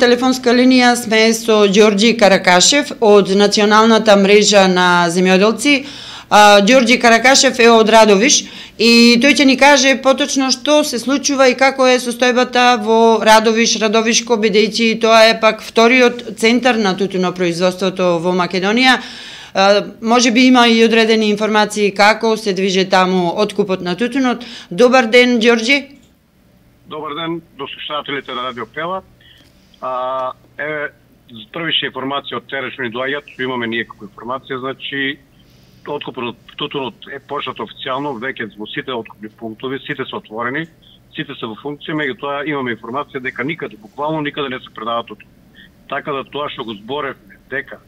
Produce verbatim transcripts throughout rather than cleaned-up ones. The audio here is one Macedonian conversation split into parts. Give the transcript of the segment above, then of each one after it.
телефонска линија сме со Ѓорѓи Каракашев од Националната мрежа на земјоделци. Ѓорѓи Каракашев е од Радовиш и тој ќе ни каже поточно што се случува и како е состојбата во Радовиш, Радовишко, бидејќи тоа е пак вториот центар на тутунопроизводството во Македонија. Може би има и одредени информации како се движи таму откупот на тутунот. Добар ден, Ѓорѓи. Добар ден до слушателите на Радио Пела. А, еве, првише информација од терен што ни доаѓаат, што имаме ние како информација, значи откупот на тутунот е почнат официјално, веќе во сите откупни пунктови, сите се отворени, сите се во функција, меѓутоа имаме информација дека никаде, буквално никаде не се предава тутун. Така да тоа што го зборевме дека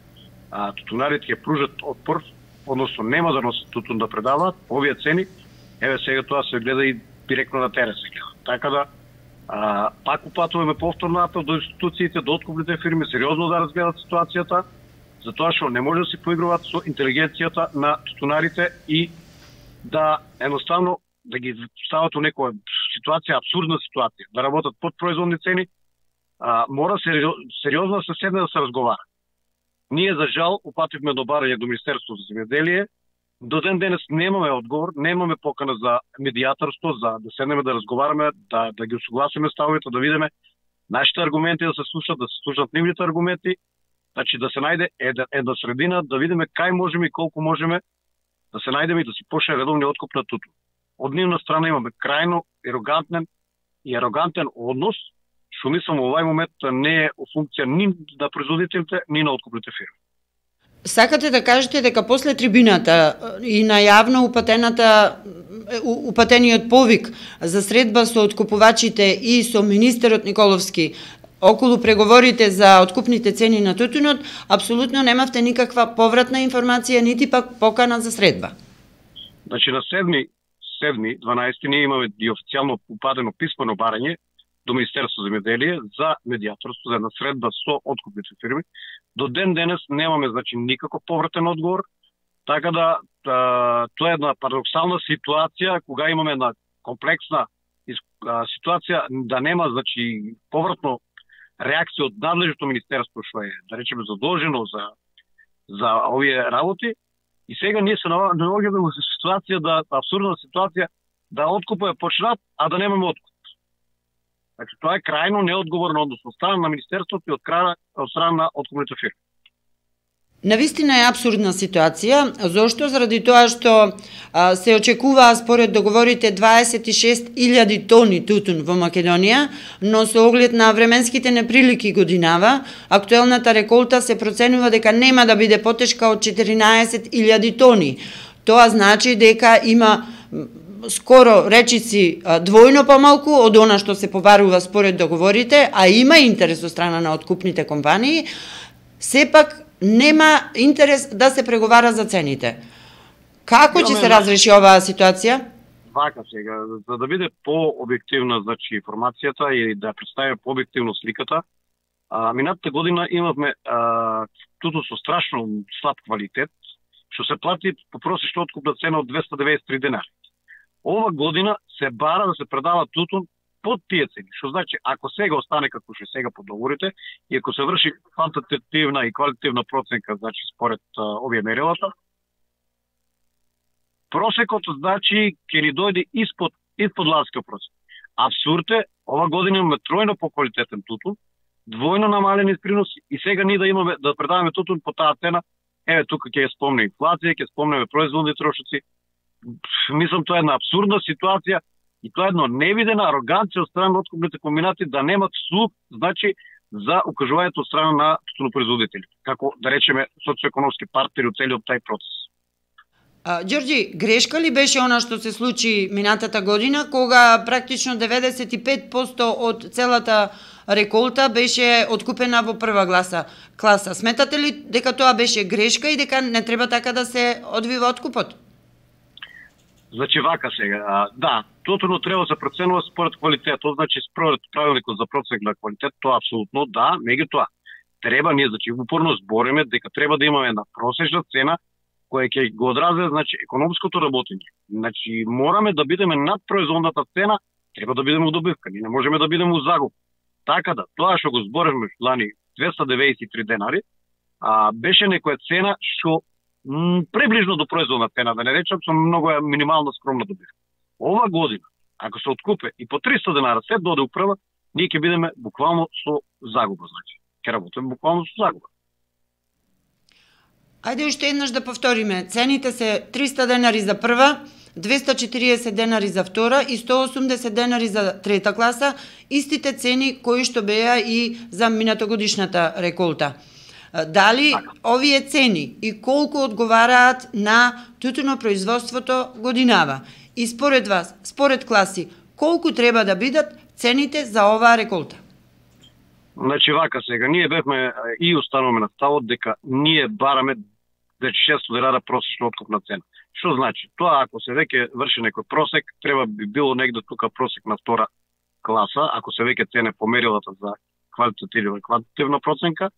а, тутунарите ќе пружат отпор, односно нема да носат тутун да предаваат, овие цени, еве сега тоа се гледа и директно на терен се гледа. Така да а, пак упатуваме повторно апел до институциите, до откупните фирми, сериозно да разгледат ситуацијата, затоа што не може да се поигруваат со интелигенцијата на тутунарите и да едноставно да ги стават у некоја ситуација, абсурдна ситуација, да работат под производни цени, а, мора сериозно да се седне да се разговара. Ние, за жал, упативме до барање до Министерството за земјоделие. До ден денес немаме одговор, немаме покана за медијаторство, за да седнеме да разговараме, да, да ги усогласиме ставовите, да видиме нашите аргументи да се слушат, да се слушат нивните аргументи, значи да се најде една, една средина, да видиме кај можеме и колку можеме да се најдеме и да си почне редовниот откуп на тутун. Од нивна страна имаме крајно арогантен и арогантен однос, што мислам во овај момент не е у функција ни на производителите, ни на откупните фирми. Сакате да кажете дека после трибината и на јавно упатената упатениот повик за средба со откупувачите и со министерот Николовски околу преговорите за откупните цени на тутунот, апсолутно немавте никаква повратна информација, нити пак покана за средба? Значи на седми дванаесети ние имаме и официјално упадено писмено барање до Министерство за земјоделие за медијаторство, за една средба со откупните фирми. До ден денес немаме значи никаков повратен одговор, така да, да тоа е една парадоксална ситуација кога имаме една комплексна ситуација да нема значи повратно реакција од надлежното министерство што е, да речеме, задолжено за за овие работи. И сега ние се наоѓаме во ситуација да абсурдна ситуација да откупот е почнат, а да немаме откуп. Значи тоа е крајно неодговорно однос од страна на министерството и од страна од страна на откупните фирми. Навистина е абсурдна ситуација, зошто? Заради тоа што а, се очекуваа според договорите дваесет и шест илјади тони тутун во Македонија, но со оглед на временските неприлики годинава, актуелната реколта се проценува дека нема да биде потешка од четиринаесет илјади тони. Тоа значи дека има скоро речици двојно помалку од она што се побарува според договорите, а има интерес од страна на откупните компании, сепак нема интерес да се преговара за цените. Како ќе се разреши оваа ситуација? Вака сега, за да биде по-објективна значи информацијата и да представи по-објективно сликата, а, минатата година имавме а, тутун со страшно слаб квалитет, што се плати по просечна откупна цена од двесте деветдесет и три денари. Ова година се бара да се предава тутун под тие цени, што значи ако сега остане како што сега по договорите и ако се врши квантитативна и квалитативна проценка, значи според а, овие мерилата, просекот значи ќе ни дојде испод испод ланскиот просек. Абсурд е, ова година имаме тројно поквалитетен тутун, двојно намалени приноси и сега ние да имаме да предаваме тутун по таа цена. Еве тука ќе спомнеме инфлација, ќе спомнеме производни трошоци. Мислам тоа е една абсурдна ситуација и тоа е една невидена ароганција од страна на откупните комбинати да немат слух, значи, за укажувањето од страна на тутунопроизводителите, како да речеме социоекономски партнери од целиот тај процес. А, Ѓорѓи, грешка ли беше она што се случи минатата година, кога практично деветдесет и пет проценти од целата реколта беше откупена во прва гласа класа? Сметате ли дека тоа беше грешка и дека не треба така да се одвива откупот? Значи вака сега, да, тотално треба да се проценува според квалитетот, значи според правилникот за проценка на квалитет, тоа апсолутно да, меѓутоа треба ние значи упорно збориме дека треба да имаме една просечна цена која ќе го одрази значи економското работење. Значи мораме да бидеме над производната цена, треба да бидеме у добивка, ние не можеме да бидеме у загуб. Така да, тоа што го зборевме лани двеста деветдесет и три денари, а, беше некоја цена што м, приближно до производна цена, да не речам со многу е минимална скромна добивка. Ова година, ако се откупе и по триста денара се доде управа, ние ќе бидеме буквално со загуба, значи. Ќе работиме буквално со загуба. Ајде уште еднаш да повториме. Цените се триста денари за прва, двеста и четириесет денари за втора и сто и осумдесет денари за трета класа, истите цени кои што беа и за минатогодишната реколта. Дали овие цени и колку одговараат на тутунопроизводството годинава? И според вас, според класи, колку треба да бидат цените за оваа реколта? Значи вака сега, ние бевме и остануваме на ставот дека ние бараме вече шестстотини денара просечна откупна цена. Што значи? Тоа ако се веќе врши некој просек, треба би било негде тука просек на втора класа, ако се веќе цене померилата за квалитативна квантитивна проценка,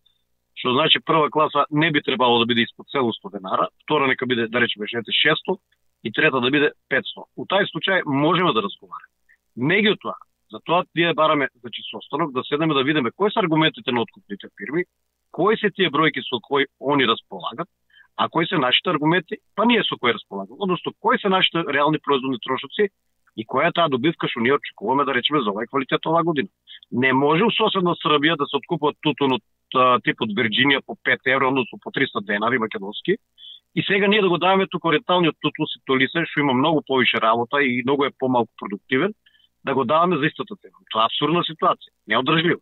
што значи прва класа не би требало да биде испод седумстотини денара, втора нека биде, да речеме, шестстотини и трета да биде петстотини. У тај случај можеме да разговараме. Меѓутоа, затоа ние бараме, значи, состанок да седнеме да видиме кои се аргументите на откупните фирми, кои се тие бројки со кои они располагат, а кои се нашите аргументи, па ние со кои располагаме. Односно, кои се нашите реални производни трошоци и која е таа добивка што ние очекуваме да речеме за овај квалитет оваа година. Не може у соседна Србија да се откупува тутун од типот Вирџинија по пет евро, односно по триста денари македонски, и сега ние да го даваме тука ориенталниот тутун Ситолисе, што има многу повише работа и многу е помалку продуктивен, да го даваме за истата цена. Тоа е абсурдна ситуација, неодржливо.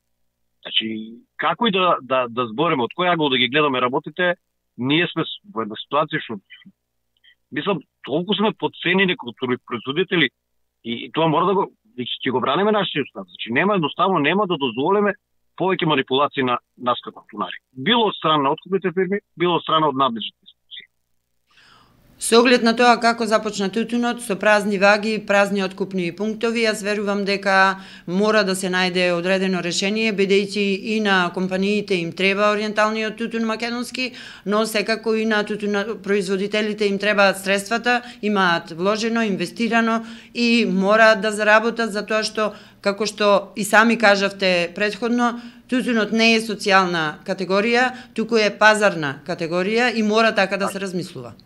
Значи, како и да, да, да збориме, од кој ангол да ги гледаме работите, ние сме во една ситуација што, мислам, толку сме подценени како производители и тоа мора да го, ќе го браниме нашите устави. Значи, нема едноставно, нема да дозволиме повеќе манипулации на нас како тунари. Било од страна на откупните фирми, било од страна од надлежните институции. Со оглед на тоа како започна тутунот, со празни ваги, празни откупни пунктови, јас верувам дека мора да се најде одредено решение, бидејќи и на компаниите им треба ориенталниот тутун македонски, но секако и на тутун производителите им требаат средствата, имаат вложено, инвестирано и мораат да заработат за тоа што, како што и сами кажавте предходно, тутунот не е социјална категорија, туку е пазарна категорија и мора така да се размислува.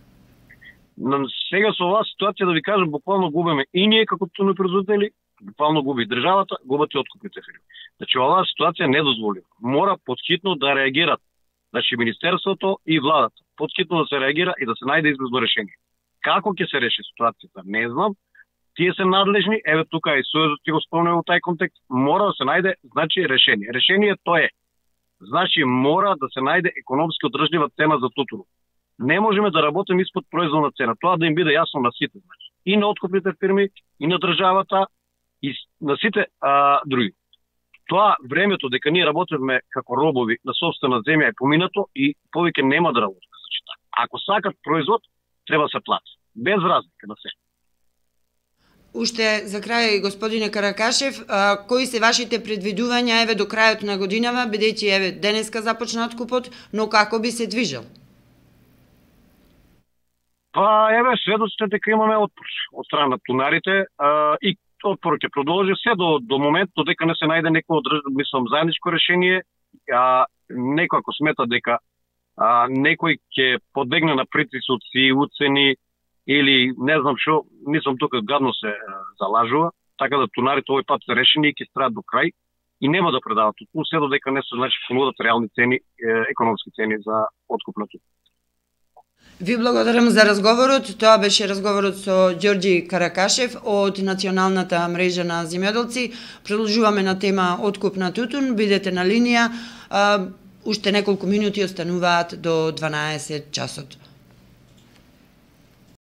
Но сега со оваа ситуација да ви кажам, буквално губиме и ние како тутунопроизводители, буквално губи и државата, губат и откупните фирми. Значи оваа ситуација не дозволива. Мора потхитно да реагират. Значи министерството и владата потхитно да се реагира и да се најде излезно решение. Како ќе се реши ситуацијата, не знам. Тие се надлежни, еве тука и Сојузот ќе го спомнува во тај контекст, мора да се најде, значи, решение. Решението е, значи, мора да се најде економски одржлива цена за тутунот. Не можеме да работиме испод производна цена. Тоа да им биде јасно на сите, значи. И на откупните фирми, и на државата, и на сите а, други. Тоа времето дека ние работиме како робови на собствена земја е поминато и повеќе нема да работиме. Значи, така. Ако сакат производ, треба да се плати. Без разлика на се. Уште за крај, господине Каракашев, а, кои се вашите предвидувања еве до крајот на годинава, бидејќи еве денеска започна откупот, но како би се движел? Па, еве, сведоците дека имаме отпор од страна на тунарите а, и отпорот ќе продолжи се до, до моментот дека не се најде некој одржливо, мислам, заедничко решение, а некој ако смета дека а, некој ќе подбегне на притисоци, уцени или не знам што, мислам тука гадно се а, залажува, така да тунарите овој пат се решени и ќе страат до крај и нема да предават тутун, се додека не се, значи, понудат реални цени, економски цени за откуп на тутун. Ви благодарам за разговорот. Тоа беше разговорот со Ѓорѓи Каракашев од Националната мрежа на земјоделци. Продолжуваме на тема откуп на тутун. Бидете на линија. Уште неколку минути остануваат до дванаесет часот.